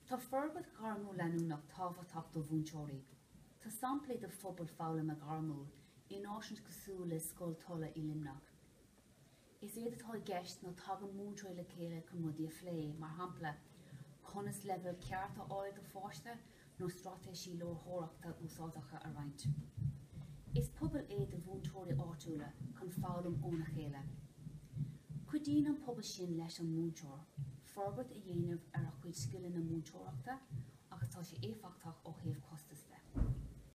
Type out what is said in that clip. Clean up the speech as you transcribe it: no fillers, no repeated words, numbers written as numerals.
Tá forbairt ghairmiúil leanúnach tábhachtach do mhúinteoirí. Tá samplaí de phobal foghlama gairmiúil in áiseanna cosúil le Scoil Tulla i Luimneach. Is éard atá i gceist ná tagann múinteoirí le chéile chun rudaí a phlé, mar shampla, conas leibhéal ceart a fháil do pháiste nó straitéisí léitheoireachta úsáideacha a roinnt. Is pobal é do mhúinteoirí áitiúla chun foghlaim óna chéile. Cuidíonn an pobal sin leis an múinteoir forbairt a dhéanamh ar a chuid scileanna múinteoireachta agus tá sé éifeachtach ó thaobh costas de.